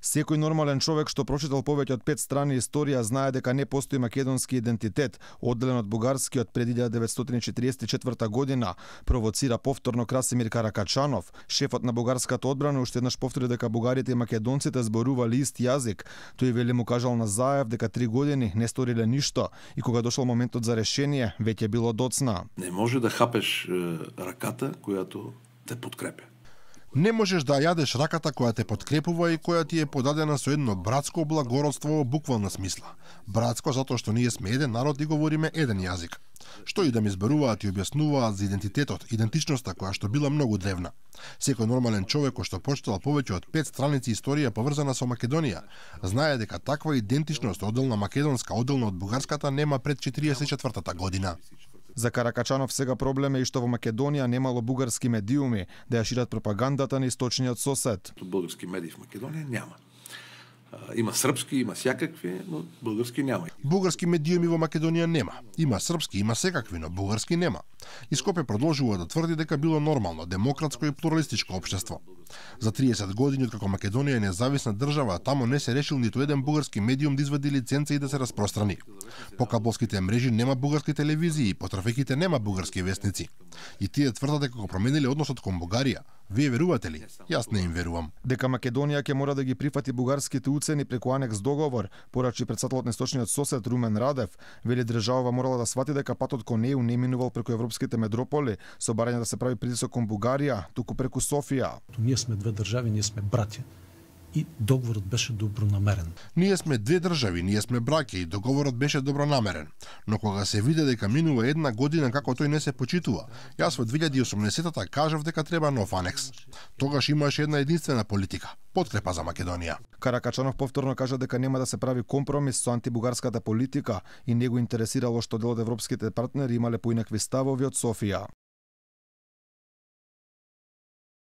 Секој нормален човек што прочитал повеќе од 5 страни историја знае дека не постои македонски идентитет, одделен од бугарскиот пред 1944 година, провоцира повторно Красимир Каракачанов. Шефот на бугарската одбрана уште еднаш повтори дека бугарите и македонците зборувале ист јазик. Тој вели му кажал на Заев дека 3 години не сториле ништо и кога дошол моментот за решение, веќе било доцна. Не може да хапеш раката којато те подкрепя. Не можеш да јадеш раката која те подкрепува и која ти е подадена со едно братско благородство во буквална смисла. Братско затоа што ние сме еден народ и говориме еден јазик. Што и да ми зборуваат и објаснуваат за идентитетот, идентичноста која што била многу древна. Секој нормален човек кој што прочитал повеќе од 5 страници историја поврзана со Македонија, знае дека таква идентичност одделна македонска, одделна од бугарската нема пред 44-та година. За Каракачанов сега проблем е и што во Македонија немало бугарски медиуми да ја шират пропагандата на источниот сосед. Бугарски медии в Македонија няма. Има српски, има сјакакви, но бугарски нема. Бугарски медиуми во Македонија нема. Има српски, има секакви, но бугарски нема. И Скопје продолжува да тврди дека било нормално, демократско и плуралистичко општество. За 30 години откако Македонија е независна држава, тамо не се решил ниту еден бугарски медиум да извади лиценца и да се распространи. По кабелските мрежи нема бугарски телевизии, по трафиките нема бугарски вестници. И тие тврдат дека го промениле односот кон Бугарија. Вие верувате ли? Јас не им верувам. Дека Македонија ќе мора да ги прифати бугарските уцени преку анекс договор, порачи претседателот на источниот сосед Румен Радев, вели државава морала да свати дека патот кон неју не минувал преку европските метрополи, со барање да се прави притисок кон Бугарија, туку преку Софија. Ние сме две држави, ние сме браќа. И договорот беше добронамерен. Ние сме две држави, ние сме браќа и договорот беше добронамерен. Но кога се виде дека минува една година како тој не се почитува, јас во 2080-та кажав дека треба нов анекс. Тогаш имаше една единствена политика, подкрепа за Македонија. Каракачанов повторно кажа дека нема да се прави компромис со антибугарската политика и не го интересирало што дел од европските партнери имале поинакви ставови од Софија.